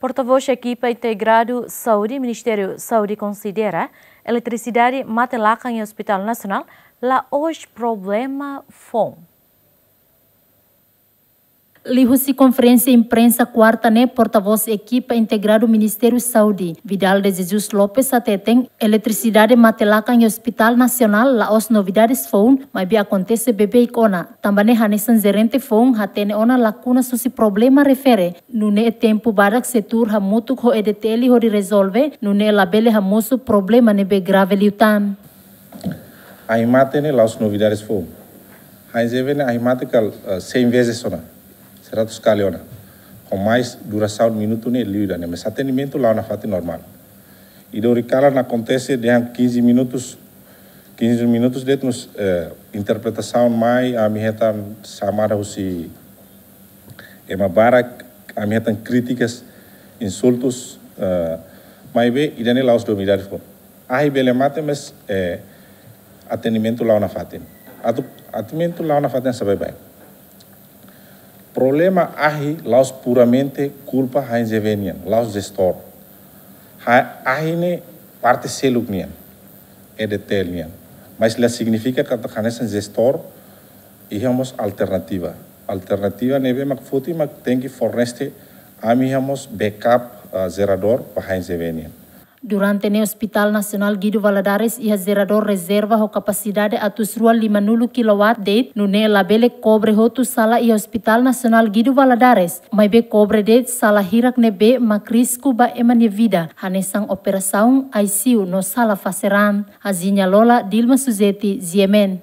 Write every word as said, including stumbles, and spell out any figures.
Porta-voz ekipa integradu saúde, Ministériu Saúde konsidera eletrisidade mate-lakan iha Hospital Nasionál la'ós problema foun. Liuhusi konferénsia imprensa kuarta ne'e, porta-voz ekipa integradu Ministériu Saúde, Vidal de Jesus Lopes, hateten eletrisidade mate-lakan iha Hospital Nasionál la'ós novidades foun, maibé akontese beibeik ona. Tanba ne'e hanesan jerente foun hatene ona lakunas husi problema refere, nune'e tempu badak sei tuur hamutuk ho E D T L hodi rezolve, nune'e labele hamosu problema ne'ebé grave liután. Ahi mate ne'e la'ós novidades foun. Hain Zeve ne'e ahi mate kala, eh, cem vezes ona, seratus kali ona. Ho mais durasaun minutu ne'e liu ida-ne'e, mas atendimentu la'o nafatin normál. Ida ohin kalan akontese dehan quinze minutos, quinze minutos de'it mós, eh, interpretasaun mai, ami hetan xamada husi ema barak, ami hetan krítikas, insultus, eh, maibé ida-ne'e la'ós novidade foun. Ahi bele mate, mas, eh, atendimentu la'o nafatin. Atu, atendimentu la'o nafatin hanesan baibain. Problema ahi la'ós puramente kulpa Hain Zeve nian, la'ós jestór. Ha, ahi ne'e parte seluk nian, E D T L nian. Mas la signifika katak hanesan jestór iha mós alternativa. Alternativa ne'ebé mak foti mak tenke fornese ami iha mós backup, ah, jeradór ba Hain Zeve nian. Durante ne'e Hospital Nasionál Guido Valadares iha jeradór rezerva ho kapasidade atus rua limanulu kilowatt de'it, nune'e labele kobre hotu sala iha Hospital Nasionál Guido Valadares, maibé kobre de'it sala hirak ne'ebé mak risku ba ema nia vida, hanesan operasaun, I C U no sala fase raan. Hazinya Lola, Dilma Suzeti, G M N.